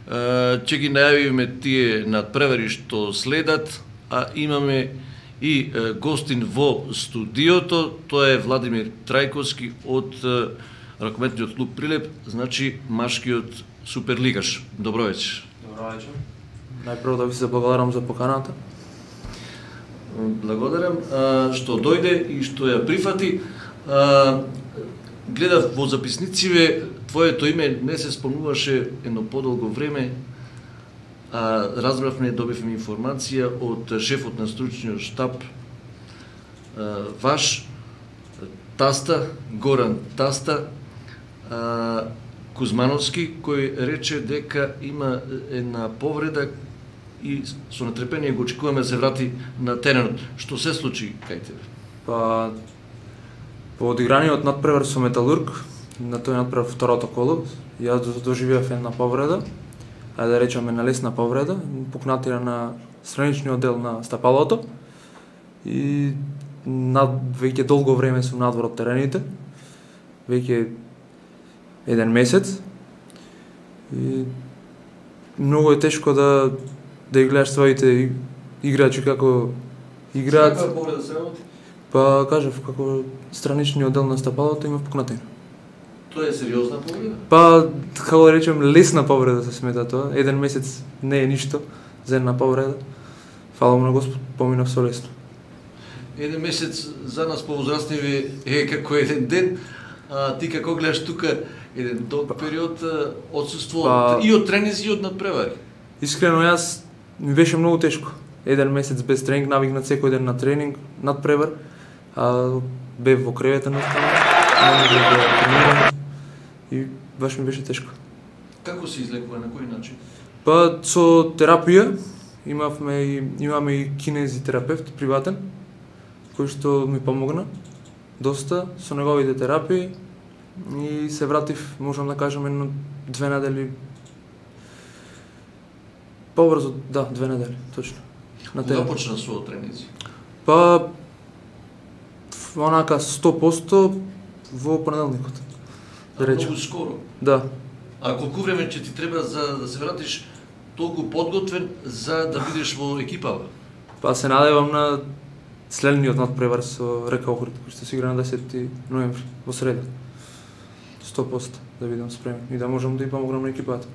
Ќе ги најавиме тие надпревари што следат, а имаме и гостин во студиото, тоа е Владимир Трајковски од ракометниот клуб Прилеп, значи машкиот суперлигаш. Добро вечер. Добро вечер. Најпрво да ви се благодарам за поканата. Благодарам што дојде и што ја прифати. Гледав во записнициве, твоето име не се спомнуваше едно подолго време, а разбравме, добивме информација од шефот на стручниот штаб, ваш таста, Горан Таста, Кузмановски, кој рече дека има една повреда и со нетрпение го очекуваме да се врати на теренот. Што се случи кај тебе? Па, по одиграниот надпревар со Металург, на тој надпревар второто коло, јас доживеав една повреда, ајде да речеме на лесна повреда, пукнатина на страничниот дел на стапалото и веќе долго време сум надвор од терените, веќе еден месец и многу е тешко да ги гледаш своите играчи како играат. Каква повреда се работи? Па кажав како страничниот дел на стапалото има пукнатина. Тоа е сериозна повреда? Па како да речем лесна повреда се смета тоа. Еден месец не е ништо за една повреда. Фала му на Господ, поминав со лесно. Еден месец за нас повозрастниви е како еден ден, а ти како гледаш тука еден долг период отсуство и од тренинзи и од надпревари? Искрено јас ми беше многу тешко. Еден месец без тренинг, навикнат секој ден на тренинг, надпревар, а бев во кревета наставно, не можев да тренирам и баш ми беше тешко. Како се излекува, на кој начин? Па со терапија, имаме и кинезитерапевт приватен, кој што ми помогна доста со неговите терапии и се вратив, можам да кажам, едно 2 недели. Побрзо, да, 2 недели, точно. Кога почна со тренинзи? Па, онака 100% во понеделникот. Да речем. Многу скоро? Да. А колку време ќе ти треба за да се вратиш толку подготвен за да бидеш во екипава? Па се надевам на следниот надпревар со Река Охрид, кој што се игра на 10 ноември, во среда. 100% да бидам спремен и да можам да ја помогнам на екипата.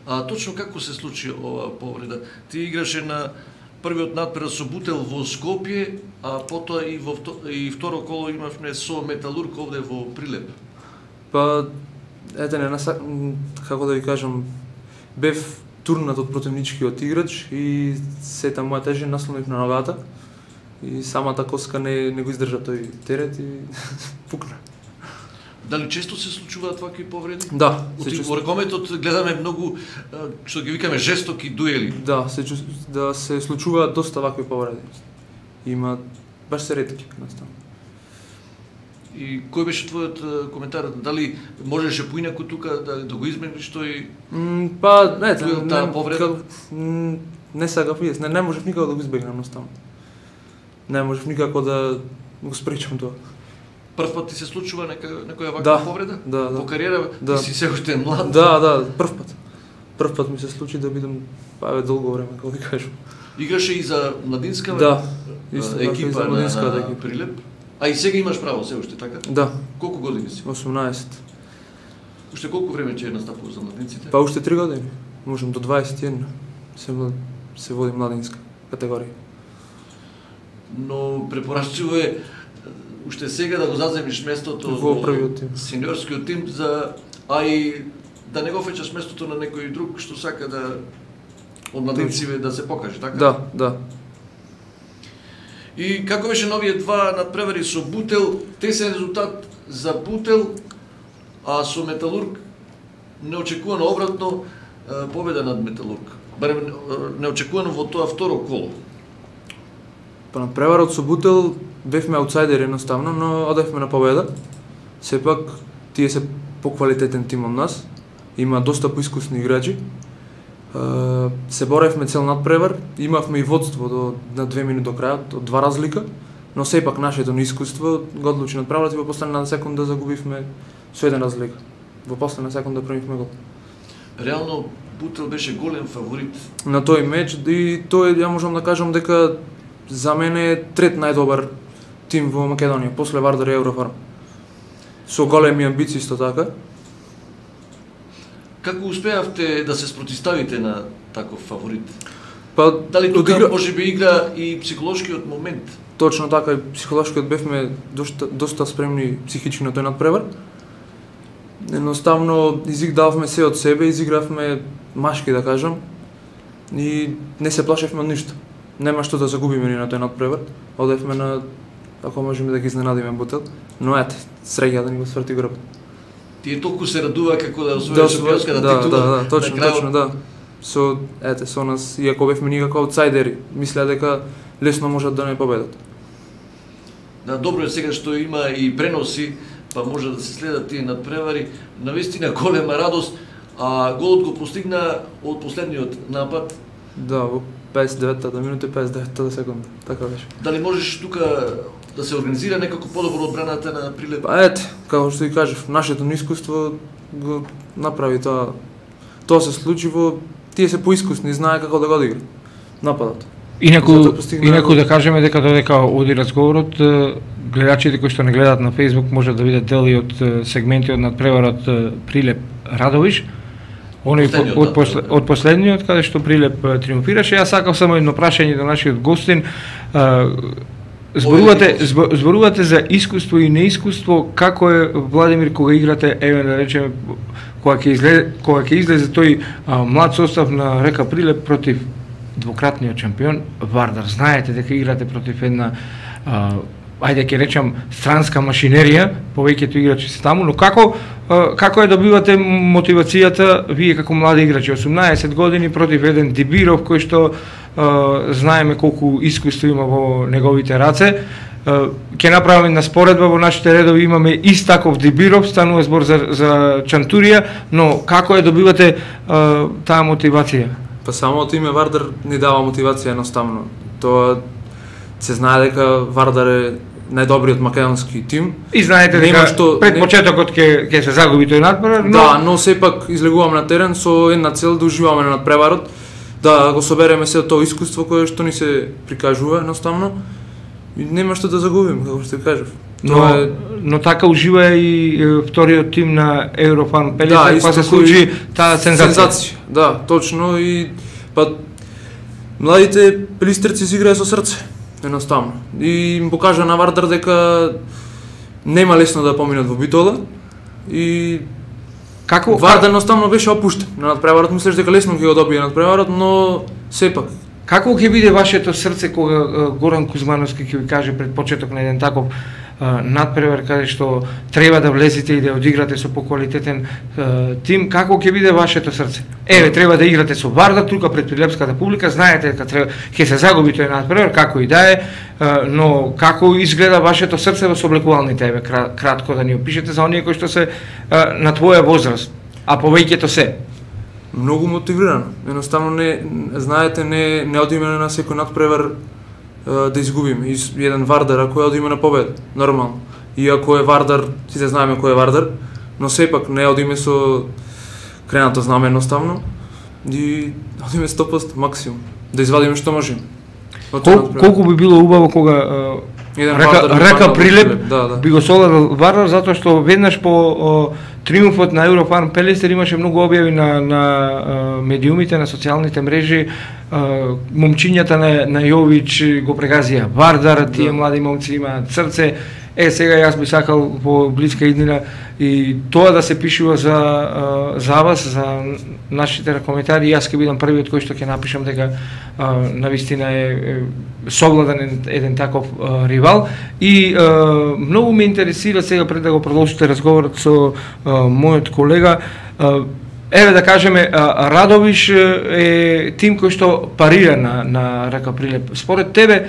А точно како се случи оваа повреда? Ти играше на првиот надпревар со Бутел во Скопје, а потоа и второ коло имавме со Металург овде во Прилеп. Па, ете не, како да ви кажам, бев турнат од противничкиот играч и сета моја тежина наслонив на ногата и самата коска не го издржа тој терет и пукна. Дали често се случуваат вакви повреди? Да, во ракометот гледаме многу, што ги викаме, жестоки дуели. Да, се случуваат доста вакви повреди. Има баш се ретки наставно. И кој беше твојот коментар? Дали можеше поинаку тука да го измениш тој? Па, таа повреда? Не сакав, не можев никако да го избегнам наставно. Не можев никако да го спречам тоа. Прв пат ти се случува некоја ваква повреда? Да. Во кариера ти си се уште млад? Да, прв пат. Прв пат ми се случи да бидам долго време, како ви кажам. Играше и за младинска екипа на Прилеп? А и сега имаш право се уште, така? Да. Колку години си? 18. Уште колку време ќе настапува за младинците? Па уште 3 години. Можам до 21 се води младинска категорија. Но препорачливо е уште сега да го заземиш местото во првиот тим, сениорскиот тим, а и да не го фечаш местото на некој друг што сака да од младинците да се покаже, така? Да. И како беше новие два надпревари со Бутел, тесен резултат за Бутел, а со Металург неочекувано обратно победа над Металург. Барем неочекувано во тоа второ коло. Па надпреварот со Бутел бевме аутсайдери едноставно, но одевме на победа. Сепак тие се поквалитетен тим од нас, има доста поискусни играчи. Се боревме цел надпревар, имавме и водство на 2 минути до крајот, од 2 разлика, но сепак нашето неискуство го одлучи надпреварот и во последна секунда загубивме со 1 разлика. Во последна секунда примивме гол. Реално Бутел беше голем фаворит на тој меч и тој ја можам да кажам дека за мене е трет најдобар тим во Македонија после Вардар и Еврофарм. Со големи амбиции исто така. Како успеавте да се спротивставите на таков фаворит? Па Дали тука можеби игра и психолошкиот момент? Точно така, и психолошкиот бевме доста спремни психички на тој надпревар. Едноставно дававме се од себе, изигравме машки да кажам и не се плашевме од ништо. Нема што да загубиме ни на тој надпревар. Одевме на, ако можеме да ги изненадиме Бутел, но ете, среќа да ни го сврти грб. Тие толку се радува како да освои шампионската титула. Да, точно, да. Со нас, иако бевме никако аутсайдери, мислеа дека лесно можат да не победат. Да, добро е сега што има и преноси, па може да се следат тие надпревари. Навистина голема радост, а голот го постигна од последниот напад. Да, во 59-та минута и 59-та секунда, така беше. Дали можеш тука да се организира некако подобро одбраната на Прилеп? Па ете, како што ви кажав, нашето неискуство го направи тоа. Тоа се случи во тие се поискусни, знае како да го одигра нападот. Инаку да кажеме дека додека оди разговорот, гледачите кои што не гледаат на Facebook можат да видат дели од сегменти од надпреварот Прилеп Радовиш. Од последниот каде што Прилеп триумфираше. Јас сакав само едно прашање до нашиот гостин. Зборувате за искуство и неискуство, како е Владимир кога играте, еве да речеме кога ќе излезе тој млад состав на Река Прилеп против двократниот шампион Вардар. Знаете дека играте против една ајде ќе речам странска машинерија, повеќето играчи се таму, но како ја добивате мотивацијата вие како млади играчи, 18 години против еден Дибиров кој што знаеме колку искуство има во неговите раце. Ќе направиме една споредба, во нашите редови имаме ист таков Дибиров, станува збор за Чантурија, но како ја добивате таа мотивација? Па самото име Вардар ни дава мотивација едноставно. Тоа се знае дека Вардар е најдобриот македонски тим. И знаете дека пред почетокот ќе се загуби тој надпревар, но да, но сепак излегуваме на терен со една цел да уживаме на надпреварот, да го собереме се тоа искуство кое што ни се прикажува едноставно и нема што да загубиме, како што кажав. Но така ужива и вториот тим на Еврофарм Пелица, па се случи таа сензација. Да, точно, и па младите пелистерци си играат со срце, едноставно. И им покажа на Вардар дека нема лесно да поминат во битола и Вардар едноставно беше опуштен на надпреварот, мислеш дека лесно ќе го добие надпреварот, но сепак. Како ќе биде вашето срце кога Горан Кузмановски ќе ви каже пред почеток на еден таков надпревар каде што треба да влезете и да одиграте со поквалитетен тим, како ќе биде вашето срце? Еве, треба да играте со Вардар тука пред прилепската публика, знаете дека ќе се загуби тој надпревар, како и да е, но како изгледа вашето срце во соблекувалните, еве, кратко да ни опишете за оние кои што се на твоја возраст, а повеќето се? Многу мотивирано. Едноставно знаете, не одиме на секој надпревар да изгубиме. Еден Вардар ако одиме на победа, нормално. Иако е Вардар, сите знаеме кој е Вардар, но сепак не одиме со кренато знаме едноставно и одиме 100% максимум да извадиме што можеме. Колку би било убаво кога Река Прилеп би го соладил Вардар, затоа што веднаш по триумфот на Еврофарм Пелистер имаше многу објави на медиумите, на социјалните мрежи, момчињата на Јович го прегазија Вардар, тие млади момци имаат срце. Сега јас би сакал во блиска иднина и тоа да се пишува за вас, за нашите коментари. Јас ќе бидам првиот кој што ќе напишам дека навистина е совладан еден таков ривал. И многу ме интересира сега пред да го продолжите разговорот со мојот колега. Еве да кажеме, Радовиш е тим кој што парира на Река Прилеп. Според тебе,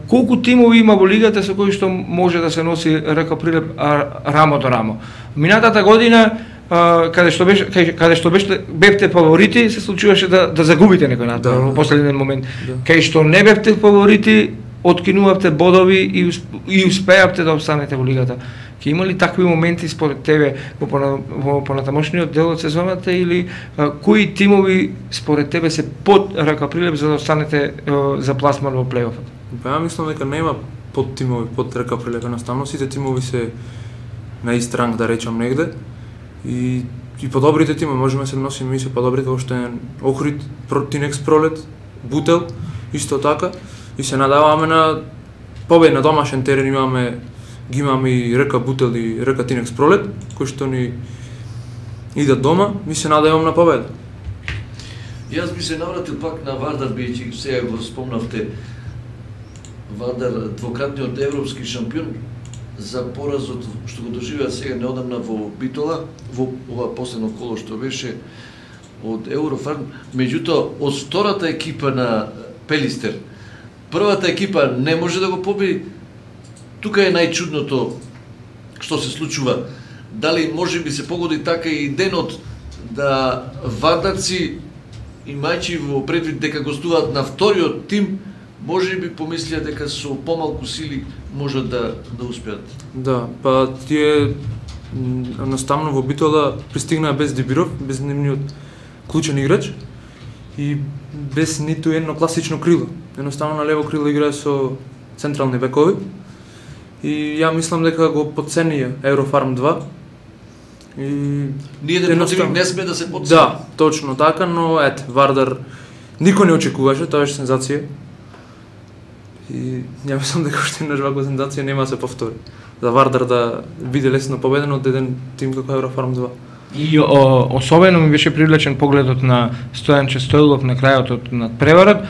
колку тимови има во лигата со кои што може да се носи Река Прилеп рамо до рамо? Минатата година, каде што бевте фаворити, се случуваше да загубите некој надпревар во последен момент. Кај што не бевте фаворити, откинувавте бодови и успеавте да обстанете во лигата. Ќе има ли такви моменти според тебе во понатамошниот дел од сезоната или кои тимови според тебе се под РК Прилеп за да останете за пласман во плейофот? Па ја мислам дека нема под тимови под РК Прилеп, едноставно сите тимови се на ист ранг, да речам негде. И по добрите тимови можеме се носиме и се по добрите, ошто е Охрид, Тинекс Пролет, Бутел, исто така, и се надаваме на победа на домашен терен. Ги имаме и РК Бутел и РК Тинекс Пролет, кои што ни идат дома, ми се надевам на победа. Јас би се навратил пак на Вардар, бидејќи сега го спомнавте, Вардар двократниот европски шампион, за поразот што го доживеа сега неодамна во Битола, во ова последно коло што беше од Еврофарм, меѓутоа од втората екипа на Пелистер, првата екипа не може да го победи. Тука е најчудното што се случува. Дали може би се погоди така и денот да вардарци, имајќи во предвид дека гостуваат на вториот тим, може би помислија дека со помалку сили можат да успеат. Да, па тие едноставно во Битола пристигнаа без Дибиров, без нивниот клучен играч и без ниту едно класично крило. Едноставно на лево крило играе со централни бекови. И ја мислам дека го потценија Еврофарм 2. И ние противник не сме да се потцени. Да, точно така, но Вардар никој не очекуваше, тоа беше сензација. И ја мислам дека уште една ваква сензација нема да се повтори. За Вардар да биде лесно победен од еден тим како Еврофарм 2. И особено ми беше привлечен погледот на Стојанче Стојлов на крајот од надпреварот.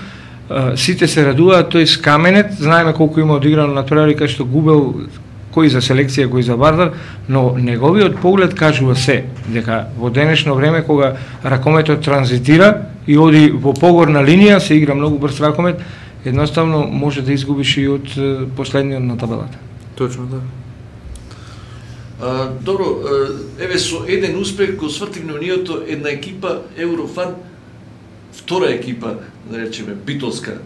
Сите се радуваат, тој Скаменет, знаеме колку има одиграно надпревари, кај што губел кој за селекција, кој за Вардар, но неговиот поглед кажува се, дека во денешно време кога ракометот транзитира и оди во погорна линија, се игра многу брз ракомет, едноставно може да изгубиш и од последниот на табелата. Точно така. Добро, еве со еден успех го свртивме ниото една екипа Еврофан, втора екипа, да речеме, битолска,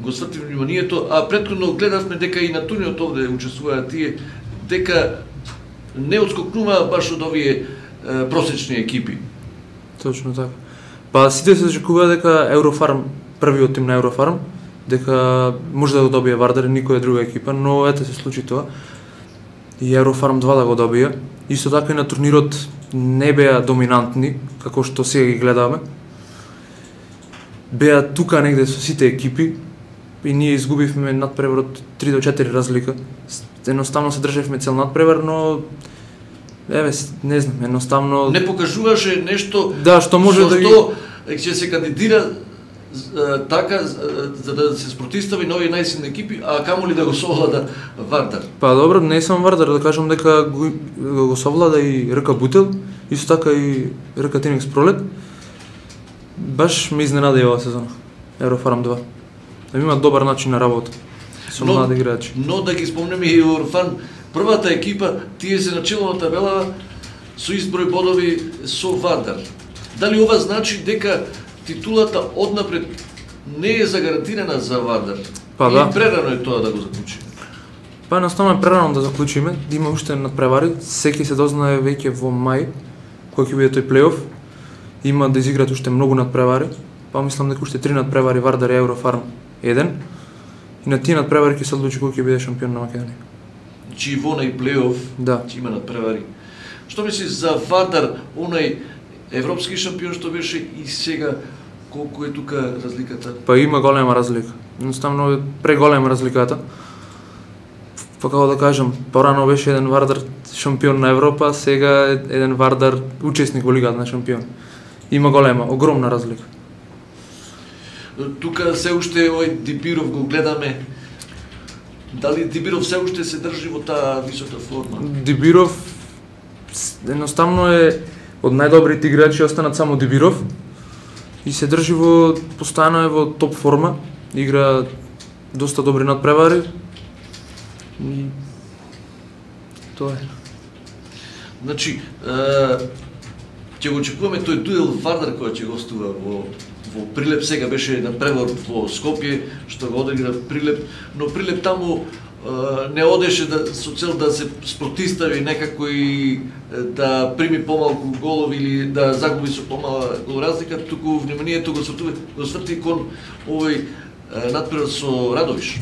го свртивме вниманието, а претходно гледавме дека и на турниот овде учествуваат тие, дека не отскокнува баш од овие просечни екипи. Точно така. Па сите се очекува дека Еврофарм, првиот тим на Еврофарм, дека може да го добие Вардар и никоја друга екипа, но ете се случи тоа. И Еврофарм 2 да го добија. Исто така и на турнирот не беа доминантни, како што сега ги гледаме. Беа тука негде со сите екипи и ние изгубивме надпреварот 3 до 4 разлика. Едноставно се држевме цел надпревар, но еве не знам, едноставно не покажуваше нешто што може да ќе се кандидира така за да се спротистави на овие најсилни екипи, а камоли да го совлада Вардар. Па добро, не само Вардар, да кажам дека го совлада и РК Бутел, исто така и РК Тинекс Пролет. Баш ме изненади оваа сезона, Еврофарм 2. Има добар начин на работа со млади играчи. Но да ги спомнеме и Еврофарм, првата екипа, тие се начело на табелава со изброј бодови со Вардар. Дали ова значи дека титулата однапред не е загарантирана за Вардар? Па да. И прерано е тоа да го заклучиме. Па едноставно е прерано да заклучиме, има уште надпревари, секи се дознае веќе во мај, кој ќе биде тој плейоф. Има да изиграат уште многу надпревари, па мислам дека уште 3 надпревари Вардар и Еврофарм 1. И на тие надпревари ќе се одлучи кој ќе биде шампион на Македонија. Чи во нај плейоф, да, ќе има надпревари. Што мислиш за Вардар, онај европски шампион што беше и сега, колку е тука разликата? Па има голема разлика. Едноставно е преголема разликата. Па како да кажам, порано беше еден Вардар шампион на Европа, сега е еден Вардар учесник во Лигата на шампион. Има голема, огромна разлика. Тука се уште овој Дибиров го гледаме. Дали Дибиров се уште се држи во таа висока форма? Дибиров едноставно е од најдобрите играчи, останат само Дибиров и се држи постојано е во топ форма, игра доста добри надпревари. И тоа е. Значи, ќе го очекуваме тој дуел Вардар која ќе гостува во Прилеп. Сега беше надпревар во Скопје, што го одигра Прилеп, но Прилеп таму не одеше со цел да се спротистави некако и да прими помалку голови или да загуби со помала голоразлика, туку вниманието го сврти кон овој натпревар со Радовиш.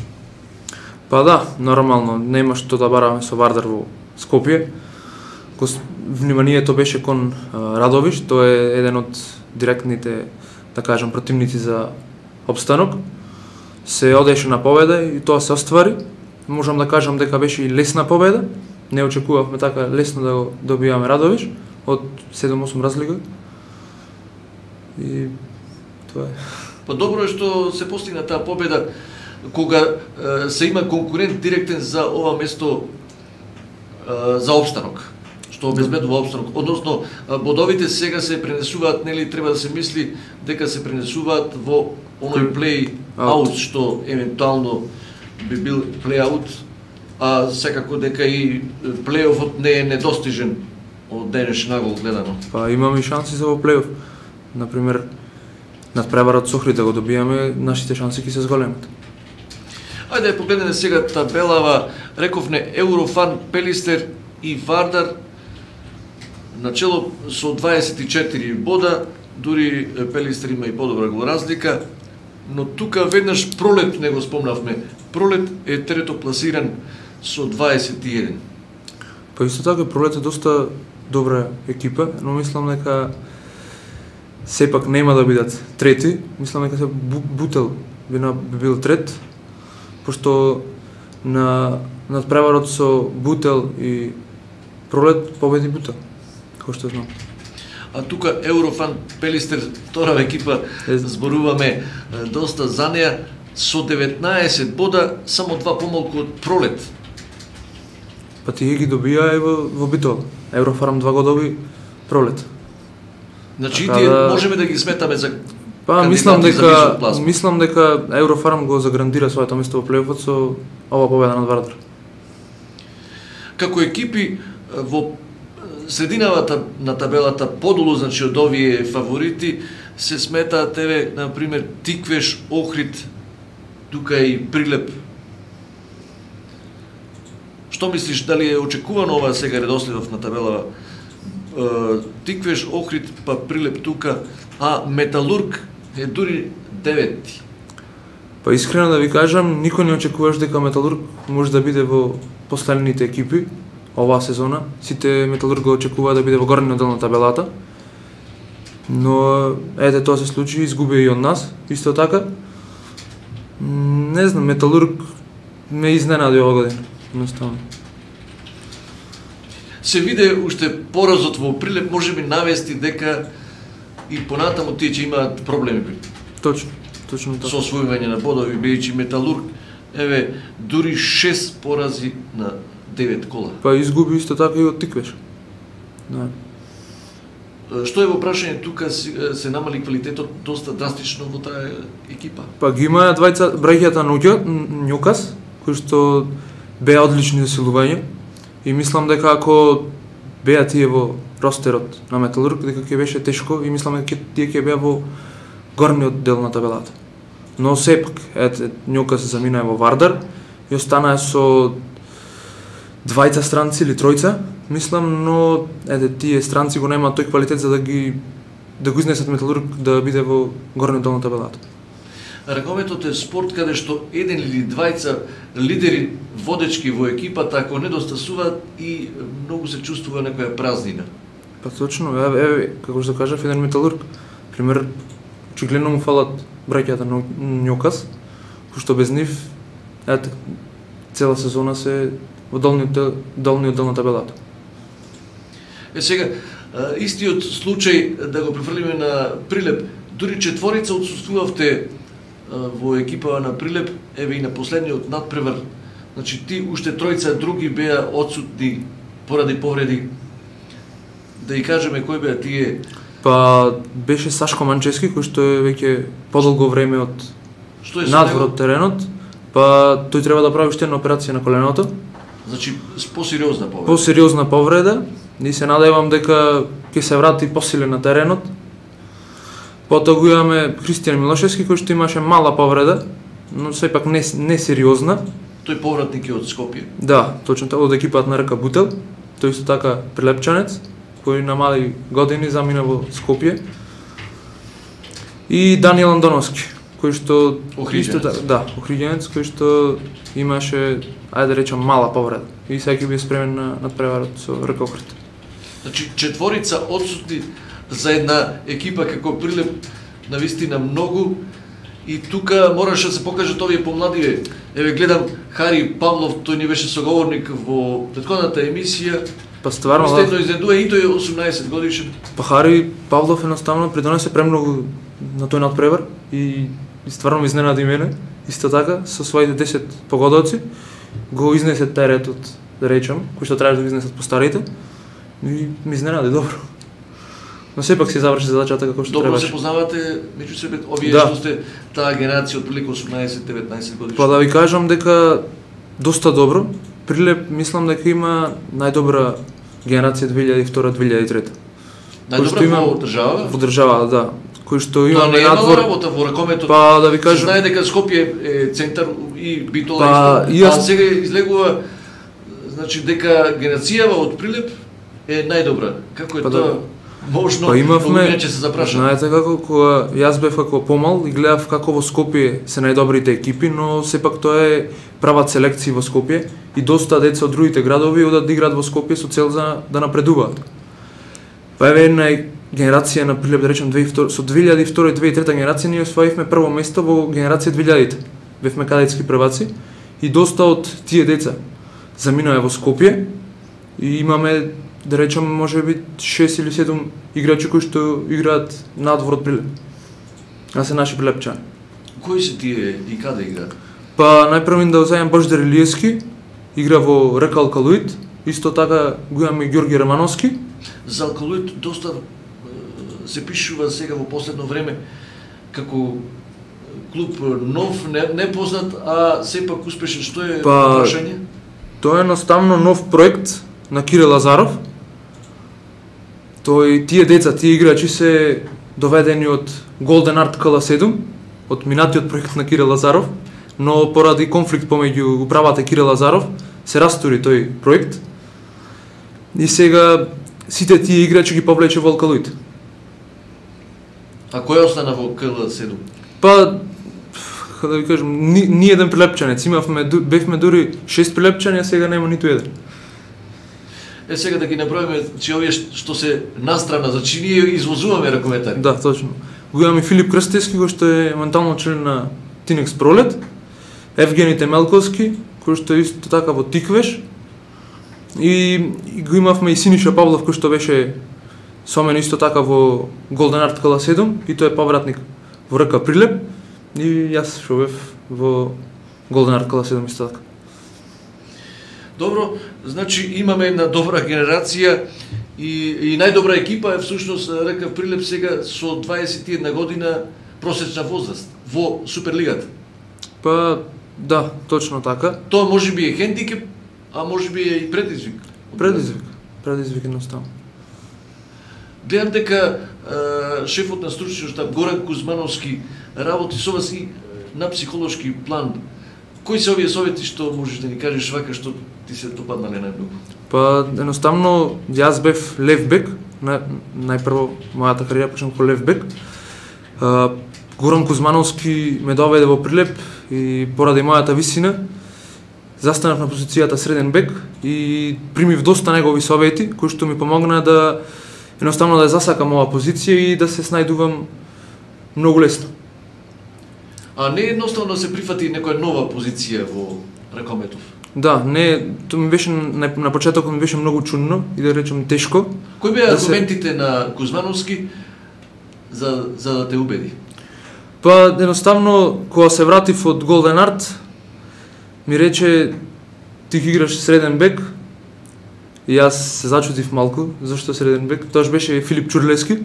Па да, нормално, нема што да бараме со Вардар во Скопје. Вниманието беше кон Радовиш, тој е еден од директните, да кажам, противници за обстанок. Се одеше на победа и тоа се оствари. Можам да кажам дека беше и лесна победа. Не очекувавме така лесно да го добиваме Радовиш од 7-8 разлика. И тоа е. Па добро е што се постигна таа победа кога се има конкурент директен за ова место за опстанок, што обезбедува опстанок. Односно, бодовите сега се пренесуваат, нели треба да се мисли дека се пренесуваат во оној плей-аут, што евентуално би бил плей-аут, а секако дека и плей-офот не е недостижен од денеш нагол гледано. Па имаме и шанси за во плей-оф. Например, надпреварот со Охрид да го добијаме, нашите шанси ќе се зголемат. Ајде погледнеме сега табелава, рековне Еврофан, Пелистер и Вардар начело со 24 бода, дури Пелистер има и подобра голоразлика, но тука веднаш Пролет не го спомнавме. Пролет е трето пласиран со 21. Па исто така Пролет е доста добра екипа, но мислам дека сепак нема да бидат трети. Мислам дека се Бутел би бил трет, пошто на надпреварот со Бутел и Пролет победи Бутел, кој што знам. А тука Еврофан, Пелистер, втора екипа, зборуваме доста за неа, со 19 бода, само 2 помалку од Пролет. Па тие ги добија и во Битол. Еврофарм 2 го доби Пролет. Значи тие можеме да ги сметаме за мислам дека Еврофарм го заграндира своето место во плейофот со ова победа над Вардар. Како екипи во средината на табелата подолу, значи од овие фаворити, се сметаат еве на пример Тиквеш, Охрид, тука и Прилеп. Што мислиш, дали е очекувано ова сега редоследов на табелава? Тиквеш, Охрид, па Прилеп тука, а Металург е дури 9. Па искрено да ви кажам, никој не очекуваш дека Металург може да биде во последните екипи оваа сезона. Сите Металург го очекува да биде во горниот дел на табелата. Но ете тоа се случи, изгуби и од нас, исто така. Не знам, Металург ме изненади ова година, едноставно. Се виде уште поразот во Прилеп, може би навести дека и понатаму тие ќе имаат проблеми. Точно така. Со освојување на бодови, бидејќи Металург, еве, дури 6 порази на 9 кола. Па изгуби исто така и од Тиквеш. Да. Што е во прашање, тука се намали квалитетот доста драстично во таа екипа? Па ги има двајца браќата Њукас, кои што беа одлични засилувања и мислам дека ако беа тие во ростерот на Металург, дека ќе беше тешко и мислам дека тие ќе беа во горниот дел на табелата. Но сепак, Њукас се замина во Вардар и останаа со двајца странци или тројца, мислам, но тие странци го немаат тој квалитет за да го изнесат Металург да биде во горниот дел на табелата. Ракометот е спорт каде што еден или двајца лидери водечки во екипата, ако недостасуваат и многу се чувствува некоја празнина. Па точно, како што кажав, еден Металург, пример, очигледно му фалат браќата на Њукас, кој што без нив, цела сезона се во долниот дел на табелата. Сега, истиот случај да го префрлиме на Прилеп, дури четворица отсуствувавте во екипа на Прилеп, еве и на последниот надпревар, значи ти уште тројца други беа отсутни поради повреди. Да и кажеме кој беа тие? Па беше Сашко Манчески, кој што е веќе подолго време надвор од теренот, па тој треба да прави уште една операција на коленото. Значи посериозна повреда. Посериозна повреда, и се надевам дека ќе се врати посилен на теренот. Потоа го имаме Христијан Милошевски, кој што имаше мала повреда, но сепак не сериозна. Тој повратник е од Скопје. Да, точно така, од екипата на РК Бутел. Тој исто така прилепчанец, кој на мали години замина во Скопје. И Даниел Андоновски, кој што исто така, да, охриѓенец, кој што имаше, ајде да речам, мала повреда. И сега ќе биде спремен на надпреварот со РК Охрид. Значи, четворица отсутни за една екипа како Прилеп, навистина многу, и тука мораше да се покажат овие помладиве. Еве гледам Хари Павлов, тој ни беше соговорник во претходната емисија. Па стварно да. Изнедува и тој е 18 годишен. Па Хари Павлов едноставно придонесе премногу на тој надпревар и стварно ме изненади мене. Исто така со своите 10 погодоци го изнесе теретот, да речам, кој што требаше да го изнесат постарите. И ми изненади добро. Но сепак се заврши задачата како што требаше. Добро се познавате меѓу себе, овие што сте таа генерација од прилика 18-19 годишни. Па да ви кажам дека доста добро. Прилеп мислам дека има најдобра генерација 2002-2003. Најдобра во држава? Во држава, да. Кој што има надвор работа во ракометот. Па да ви кажам, знае дека Скопје е центар и Битола исто. Сега излегува значи дека генерацијава од Прилеп е најдобра. Како е тоа? Можно, па имавме, се запрашам. Знаете како, кога јас бев како помал и гледав како во Скопје се најдобрите екипи, но сепак тоа е прават селекции во Скопје и доста деца од другите градови одат да играат во Скопје со цел за да напредуваат. Па еве една генерација на Прилеп, да речем, со 2002 и 2003 генерација ние освоивме прво место во генерација 2000-те. Бевме кадетски прваци и доста од тие деца заминаа во Скопје и имаме, да речем, може би 6 или 7 играчи кои што играат надвор од Прилеп. А се наши прилепчани. Кои се тие и каде играат? Па најпрво да уземам Божидар Илиевски, игра во РК Алкалуид, исто така го имаме и Ѓорги Рамановски. За Алкалуид доста се пишува сега во последно време како клуб нов, непознат, а сепак успешен. Што е прашање? Тоа е едноставно нов проект на Кире Лазаров. Тие деца, тие играчи се доведени од Golden Art KL7, од минатиот проект на Кире Лазаров, но поради конфликт помеѓу управата Кире Лазаров се растури тој проект. И сега сите тие играчи ги повлече во Алкалуид. А кој остана во KL7? Па, да ви кажам, ни еден прилепчанец, бевме дури 6 прилепчани, а сега нема ниту еден. Сега да ги наброиме, че овие што се настрана, значи ние извозуваме ракометари. Да, точно. Го имаме Филип Крстевски, кој што е ментално член на Тинекс Пролет, Евгени Темелковски, кој што е исто така во Тиквеш, и го имавме и Синиша Павлов, кој што беше со мене исто така во Golden Art KL7, и тој е повратник во РК Прилеп, и јас што бев во Golden Art KL7 исто така. Добро, значи имаме една добра генерација и најдобра екипа е всушност РК Прилеп сега со 21 година просечна возраст во Суперлигата. Па да, точно така. Тоа можеби е хендикеп, а можеби е и предизвик. Предизвик едноставно. Гледам дека шефот на стручниот штаб Горан Кузмановски работи со вас и на психолошки план. Кои се овие совети што можеш да ни кажеш вака што ти се допаднале најмногу? Па едноставно јас бев лев бек, најпрво мојата кариера почнав како лев бек. Горан Кузмановски ме доведе во Прилеп и поради мојата висина застанав на позицијата среден бек и примив доста негови совети кои што ми помогнаа да едноставно да засакам оваа позиција и да се снајдувам многу лесно. А не е едноставно да се прифати некоја нова позиција во ракометов? Да, не, тоа ми беше на почетокот ми беше многу чудно и да речем тешко. Кои беа аргументите на Кузмановски за да те убеди? Па едноставно кога се вратив од Golden Art ми рече ти ги играш среден бек и јас се зачудив малку зашто среден бек. Тоаш беше Филип Чурлески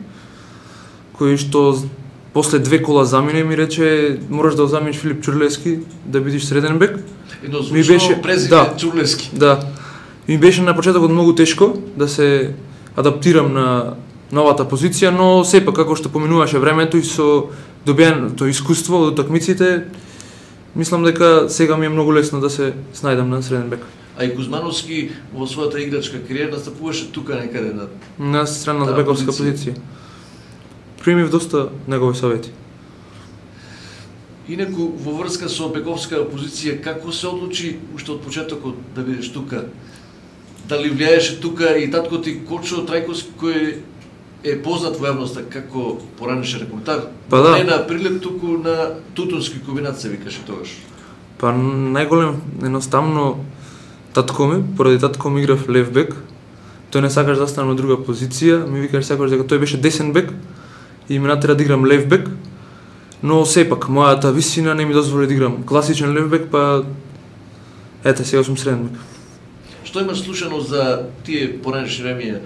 кој што после 2 кола замине ми рече мораш да заминиш Филип Чурлески да бидеш среден бек. Ми беше презиме Чурлески. Да. Ми беше на почетокот многу тешко да се адаптирам на новата позиција, но сепак како што поминуваше времето и со добиеното искуство од утакмиците Мислам дека сега ми е многу лесно да се снајдам на среден бек. А и Кузмановски во својата играчка кариера настапуваше тука некаде на средната бековска позиција. Примив доста негови совети. Инаку во врска со бековска позиција, како се одлучи уште од почетокот да бидеш тука? Дали влијаеше тука и татко ти Кочо Трајковски, кој е познат во јавноста како поранешен рекрутар? Па да. Не на Прилеп, туку на Тутунски комбинат се викаше тогаш. Па најголем, едноставно, татко ми, поради татко ми играв лев бек, тој не сакаш да стане на друга позиција, ми викаш сакаш дека тој беше десен бек и ми натера да играм лев бек, но сепак мојата висина не ми дозволи да играм класичен лев бек, па ете сега сум среден бек. Што имаш слушано за тие поранешни времиња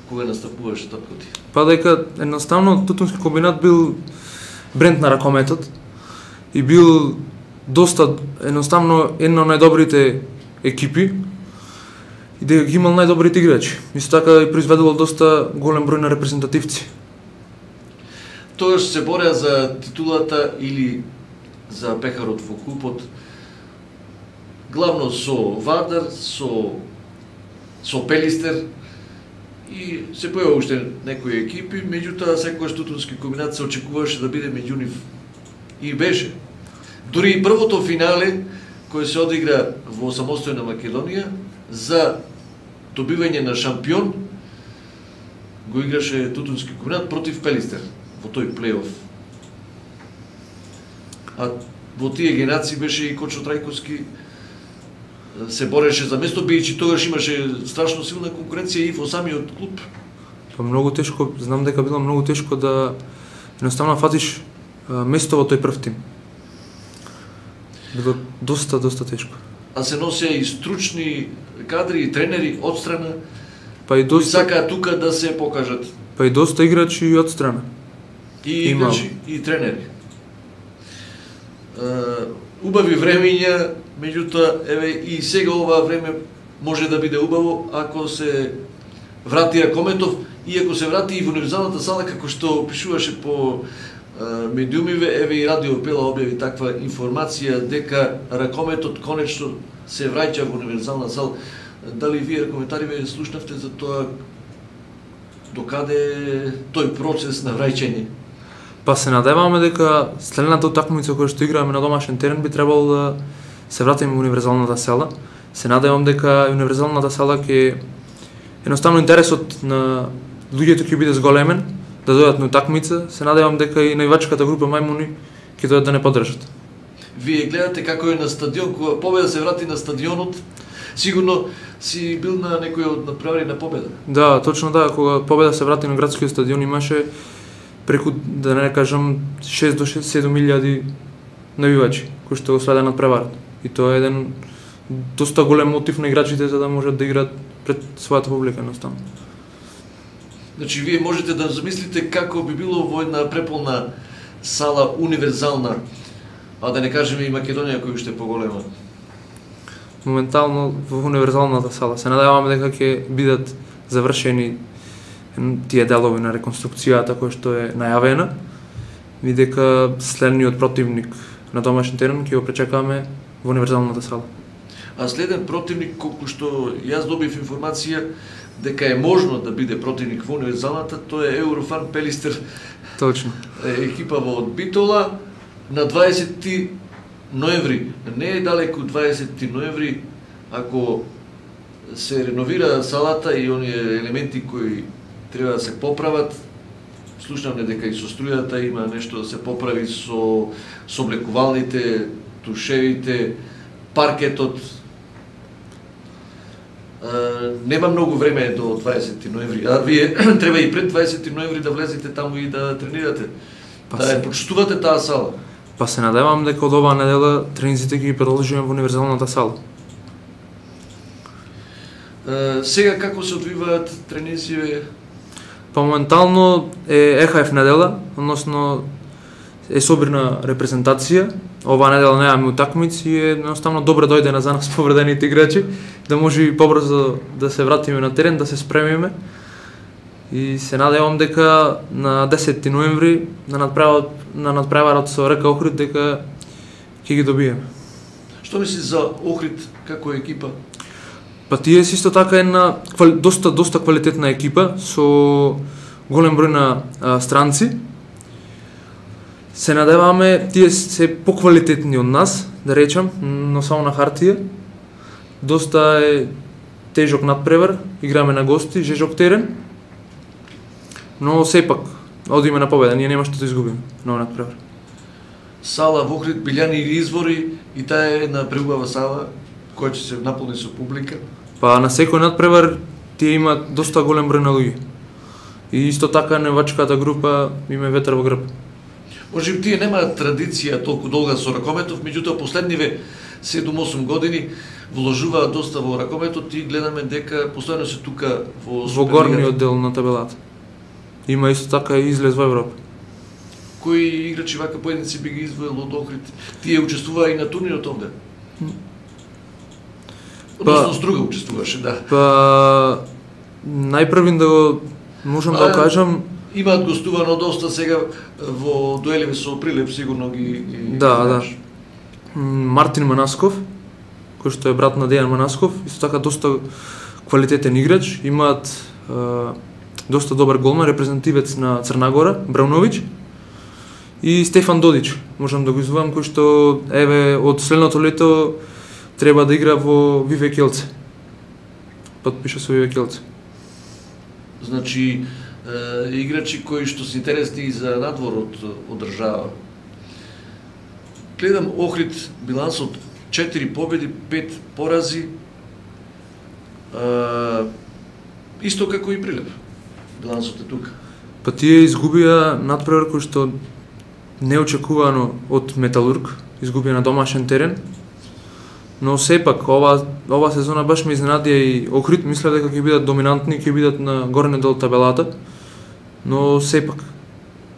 кога настапуваше татко ти? Па дека едноставно Тутунски комбинат бил бренд на ракометот и бил доста едноставно една од најдобрите екипи и дека ги имал најдобрите играчи. Исто така и произведувал доста голем број на репрезентативци. Тогаш се бореа за титулата или за пехарот во клубот, главно со Вардар, со Пелистер и се појава уште некои екипи, меѓутоа секогаш Тутунски комбинат се очекуваше да биде меѓу нив и беше. Дури и првото финале кој се одигра во самостојна Македонија за добивање на шампион го играше Тутунски комбинат против Пелистер во тој плейоф. А во тие генерации беше и Кочо Трајковски, се бореше за место, бидејќи тогаш имаше страшно силна конкуренција и во самиот клуб. Па многу тешко, знам дека било многу тешко да едноставно фатиш место во тој прв тим. Било доста тешко. А се носеа и стручни кадри и тренери од страна, па и доста сакаат тука да се покажат. Па и доста играчи од страна. И играчи и тренери. Убави времења, меѓутоа еве и сега ова време може да биде убаво ако се врати Ракометов и ако се врати и во универзалната сала, како што пишуваше по медиумиве, еве и Радио Пела објави таква информација дека Ракометот конечно се враќа во универзална сала. Дали вие коментариве слушнавте за тоа докаде тој процес на враќање? Па се надеваме дека следната утакмица која што играме на домашен терен би требало да се вратиме во универзалната сала. Се надевам дека универзалната сала ќе едноставно интересот на луѓето ќе биде зголемен да дојдат на утакмица. Се надевам дека и највачката група мајмуни ќе дојдат да не поддржат. Вие гледате како е на стадион, кога Победа се врати на стадионот, сигурно си бил на некој од надпревари на Победа. Да, точно да, кога Победа се врати на градскиот стадион имаше преку, да не кажам, 6 до 7.000 навивачи кои што го следа надпреварот. И тоа е еден доста голем мотив на играчите за да можат да играат пред својата публика едноставно. Значи вие можете да замислите како би било во една преполна сала универзална, а да не кажеме и Македонија која уште е поголема. Моментално во универзалната сала се надеваме дека ќе бидат завршени тие делови на реконструкцијата која што е најавена и дека следниот противник на домашен терен ќе го пречекаме во универзалната сала. А следен противник, колку што јас добив информација дека е можно да биде противник во универзалната, тоа е Еврофан Пелистер. Точно. Екипа во Битола на 20 ноември. Не е далеку 20 ноември, ако се реновира салата и оние елементи кои треба да се поправат. Слушнавме дека и со струјата има нешто да се поправи со облекувалните, тушевите, паркетот. Нема многу време до 20 ноември, а вие треба и пред 20 ноември да влезете таму и да тренирате, да ја почитувате таа сала. Па се надевам дека од оваа недела тренизите ги продолжиме во универзалната сала. Сега како се одвиваат тренизиве? Па моментално е ЕХФ недела, односно е собрна репрезентација. Оваа недела немаме утакмици и едноставно добро дојде на за нас повредените играчи, да може и побрзо да се вратиме на терен, да се спремиме. И се надевам дека на 10 ноември на надпреварот со РК Охрид дека ќе ги добиеме. Што мислиш за Охрид како екипа? Па тие се исто така една доста квалитетна екипа со голем број на странци. Се надеваме тие се поквалитетни од нас, да речам, но само на хартија. Доста е тежок надпревар, играме на гости, жежок терен. Но сепак одиме на победа, ние нема што да изгубиме на надпревар. Сала во Охрид, Билјани или Извори, и таа е една преубава сала која ќе се наполни со публика. Па на секој надпревар тие имаат доста голем број на луѓе. И исто така невачката група има ветер во грб. Можеби тие немаат традиција толку долга со ракометов, меѓутоа последниве 7-8 години вложуваат доста во ракометот и гледаме дека постојано се тука во горниот дел на табелата. Има исто така и излез во Европа. Кои играчи вака поединци би ги извоел од Охрид? Тие учествуваа и на турнирот овде? Односно, Струга учествуваше, да. Па најпрвин да го можам да кажам, имаат гостувано доста сега во дуеливи со Прилеп, сигурно ги да. Мартин Манасков, кој што е брат на Дејан Манасков, исто така доста квалитетен играч, имаат доста добар голман, репрезентативец на Црна Гора, Брауновиќ, и Стефан Додич, можам да го извоам, кој што еве од следното лето треба да игра во Виве Келце. Подпиша со Виве Келце. Значи, играчи кои што се интересни и за надворот од држава. Гледам Охрид билансот 4 победи, 5 порази. Исто како и Прилеп. Билансот е тука. Па тие изгубија надпревар кој што неочекувано од Металург, изгубија на домашен терен. Но сепак ова сезона баш ме изненадија и Охрид, мислев дека ќе бидат доминантни, ќе бидат на горниот дел табелата. Но сепак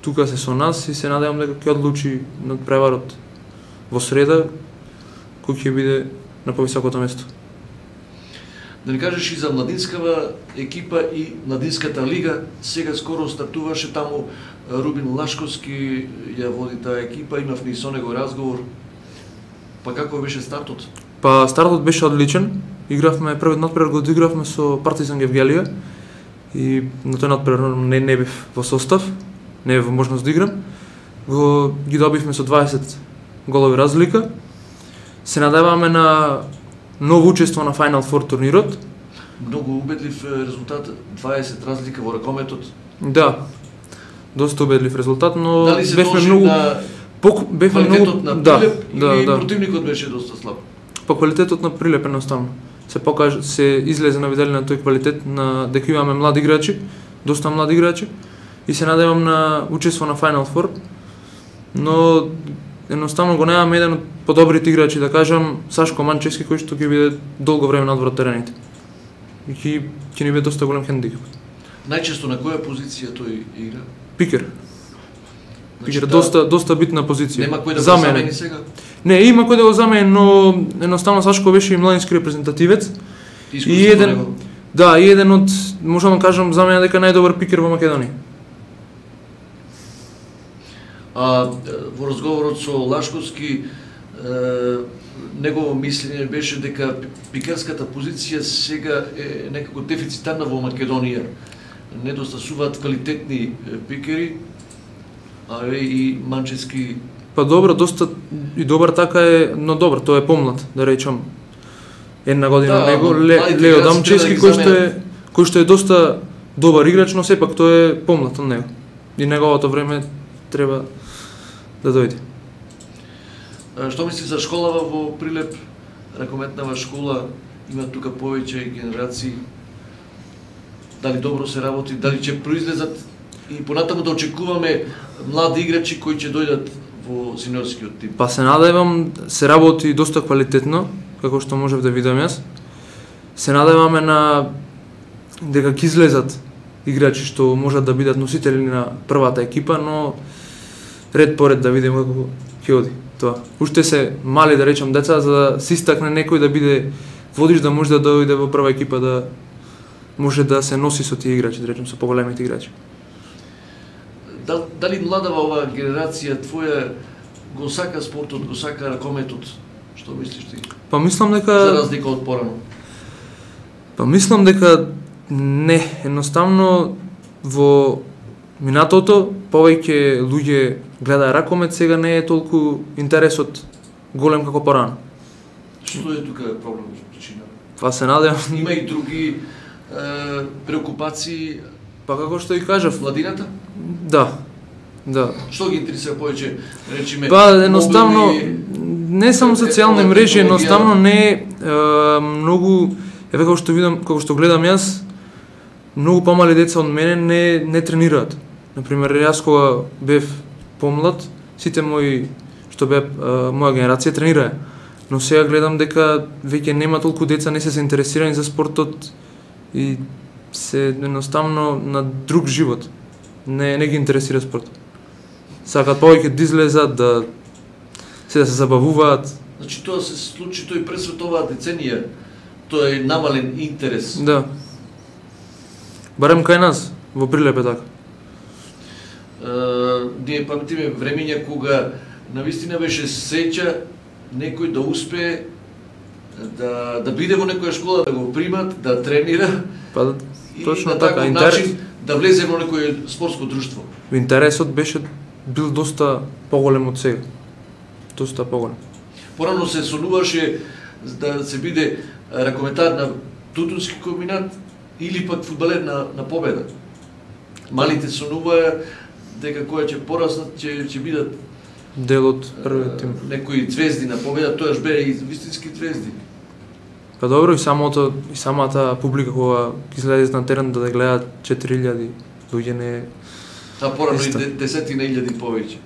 тука се со нас и се надевам дека ќе одлучи надпреварот во среда кој ќе биде на повисокото место. Да ни кажеш и за младинскава екипа и младинската лига, сега скоро стартуваше таму Рубин Лашковски ја води таа екипа, имав ни со него разговор. Па како беше стартот? Па стартот беше одличен. Игравме првиот надпревар го одигравме со Партизан Гевгелија и на тој надпревар не бев во состав, не бев во можност да играм. Ги добивме со 20 голови разлика. Се надеваме на ново учество на Final Four турнирот. Многу убедлив резултат, 20 разлика во ракометот. Да, доста убедлив резултат, но дали се бевме многу на квалитетот на Прилеп или противникот беше доста слаб? По квалитетот на Прилеп едноставно. Се излезе на виделина тој квалитет на дека имаме млади играчи, доста млади играчи и се надевам на учество на Final Four, но едноставно го немаме еден од подобрите играчи, да кажам Сашко Манчевски, кој што ќе биде долго време надвор од терените. И ќе ни биде доста голем хендикап. Најчесто на која позиција тој игра? Пикер. Пикер, доста битна позиција. Нема кој да го замени сега? Не, има кој да го замени, но едноставно Сашко беше и младински репрезентативец. И еден од, можам да кажам, за мене дека најдобар пикер во Македонија. Во разговорот со Лашковски, негово мислење беше дека пикерската позиција сега е некако дефицитарна во Македонија. Недостасуваат квалитетни пикери, и Манчевски. Па добро, доста и добар така е, но добар, тој е помлад, да речам. Една година него, Лео Дамчевски, кој што е доста добар играч, но сепак тој е помлад од него. И неговото време треба да дојде. Што мисли за школава во Прилеп? Ракометнава школа, има тука повеќе генерации. Дали добро се работи, дали ќе произлезат и понатаму да очекуваме млади играчи кои ќе дојдат во синьорскиот тип? Па се надевам, се работи доста квалитетно, како што можев да видам јас. Се надеваме на дека ќе излезат играчи што можат да бидат носители на првата екипа, но ред по ред да видиме како ќе оди тоа. Уште се мали, да речам, деца, за да се истакне некој да биде водиш, да може да дојде во прва екипа, да може да се носи со тие играчи, да речем, со поголемите играчи. Дали младава оваа генерација твоја го сака спортот, го сака ракометот? Што мислиш ти? Па мислам дека за разлика од порано. Па мислам дека не, едноставно во минатото повеќе луѓе гледаа ракомет, сега не е толку интересот голем како порано. Што е тука проблемот причина? Па се надевам. Има и други преокупации. Па како што и кажав, владината? Да. Да. Што ги интересира повеќе, речиме? Па едноставно не само социјални мрежи, едноставно не многу, еве како што видам, како што гледам јас, многу помали деца од мене не тренираат. Например, јас кога бев помлад, сите мои што беа моја генерација тренираа. Но сега гледам дека веќе нема толку деца, не се заинтересирани за спортот и се едноставно на друг живот. Не ги интересира спортот. Сакаат повеќе да излезат, да се забавуваат. Значи тоа се случи тој пред оваа деценија, тоа е намален интерес. Да. Барем кај нас, во Прилеп е така. Ние паметиме времења кога навистина беше сеќа некој да успее да биде во некоја школа, да го примат, да тренира. Па точно и на така, таков начин да влезе во некој спортско друштво. Интересот беше бил доста поголем од сега. Доста поголем. Порано се сонуваше да се биде ракометар на Тутунски комбинат или пак фудбалер на Победа. Малите сонуваа дека која ќе пораснат ќе бидат дел од првиот тим. Некои звезди на Победа, тоаш беа и вистински звезди. Па добро, и самата публика кога ќе излезе на терен да гледаат 4000 луѓе не. Та порано и десетина илјади повеќе.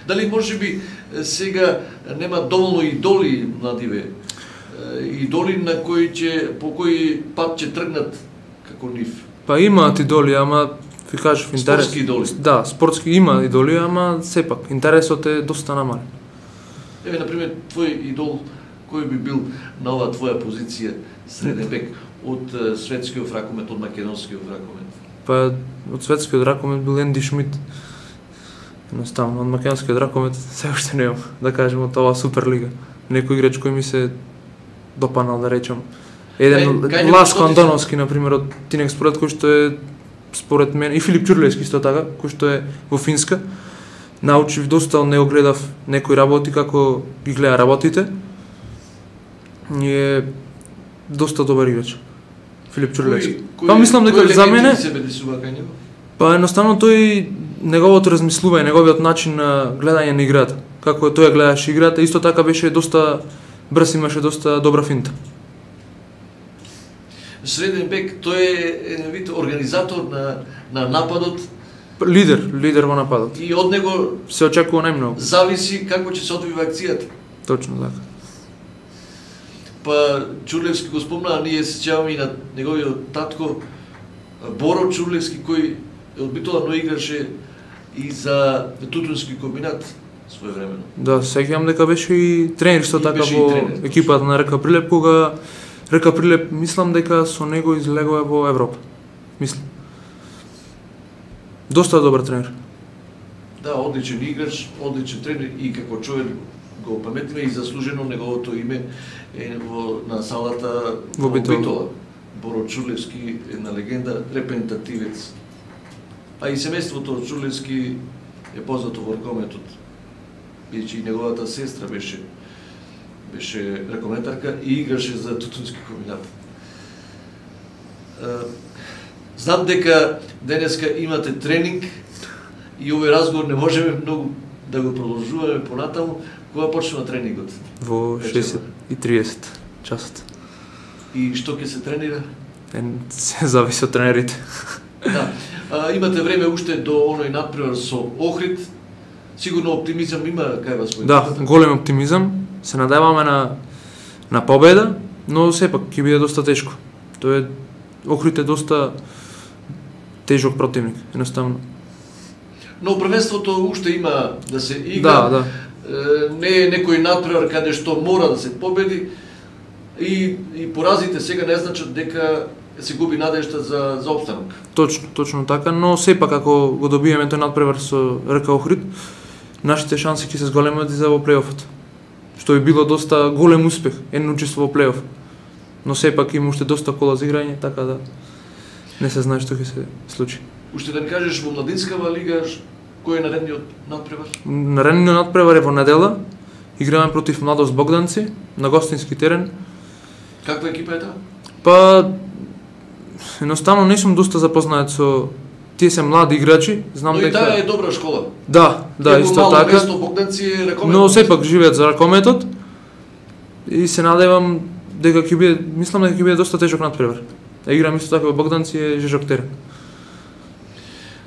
Дали можеби сега нема доволно идоли младиве? Идоли на кои по кој пат ќе тргнат како нив? Па имаат идоли, ама ви кажав интерес. Спортски идоли. Да, спортски има идоли, ама сепак интересот е доста намален. Еве на пример твој идол кој би бил на оваа твоја позиција среден век од светскиот ракомет, од македонскиот ракомет? Па од светскиот ракомет бил Енди Шмид. Едноставно, од македонскиот ракомет се уште немам, да кажем, од оваа Суперлига. Некој играч кој ми се допанал, да речем. Еден Ласко Антоновски, например, од Тинек Спорт, кој што е според мен, и Филип Чурлевски исто така, кој што е во Финска. Научив доста, од него гледав некои работи, како ги гледа работите. И е доста добар играч. Филип Чурлевски. Па мислам дека за мене па едноставно тој неговото размислување, неговиот начин на гледање на играта, како тој гледаше играта, исто така беше доста брз, имаше доста добра финта. Среден бек, тој е еден вид организатор на нападот. Лидер во нападот. И од него се очекува најмногу. Зависи како ќе се одвива акцијата. Точно така. Па Чурлевски го спомна, ние се сеќаваме и на неговиот татко Боро Чурлевски, кој одбитолно играше и за Тутунски комбинат своевремено. Да, сеќавам дека беше и тренер исто така во екипата на РК Прилеп, кога РК Прилеп мислам дека со него излегува во Европа. Мислам. Доста добар тренер. Да, одличен играч, одличен тренер и како човек го паметиме и заслужено неговото име е на салата во Битола. Боро Чурлевски, една легенда, репрезентативец. А и семејството од Чурлевски е познато во ракометот. Бидејќи и неговата сестра беше ракометарка и играше за Тутунски комбинат. Знам дека денеска имате тренинг и овој разговор не можеме многу да го продолжуваме понатаму. Кога почнува тренингот? Во 6:30 часот. И што ќе се тренира? Се зависи од тренерите. Да. Имате време уште до оној надпревар со Охрид. Сигурно оптимизам има кај вас во Да, голем оптимизам. Се надеваме на победа, но сепак ќе биде доста тешко. Охрид е доста тежок противник, едноставно. Но првенството уште има да се игра. Да. Не е некој надпревар каде што мора да се победи и поразите сега не значат дека се губи надежда за опстанок. Точно така, но сепак ако го добиеме тој надпревар со РК Охрид, нашите шанси ќе се зголемат и за во плейофот. што би било доста голем успех, едно учество во плейоф. Но сепак има уште доста кола за играње, така да не се знае што ќе се случи. Уште да ни кажеш во младинскава лига кој е наредниот натпревар? Наредниот натпревар е во недела. Играме против Младост Богданци на гостински терен. Каква екипа е таа? Па едноставно не сум доста запознаат со тие се млади играчи, знам дека таа е добра школа. Да, исто така. Место Богданци е ракометот. Но сепак живеат за ракометот. И се надевам дека ќе биде, мислам дека ќе биде доста тежок натпревар. Играм исто така во Богданци е жежок терен.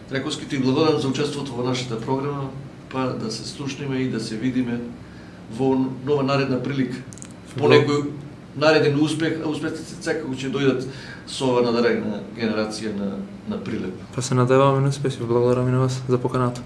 Трайковски, ти благодарам за учеството во нашата програма, па да се слушнеме и да се видиме во нова наредна прилика. По некој нареден успех, а успехите секако ќе дојдат со ова надарена генерација на Прилеп. Па се надеваме на успеси, благодарам и на вас за поканата.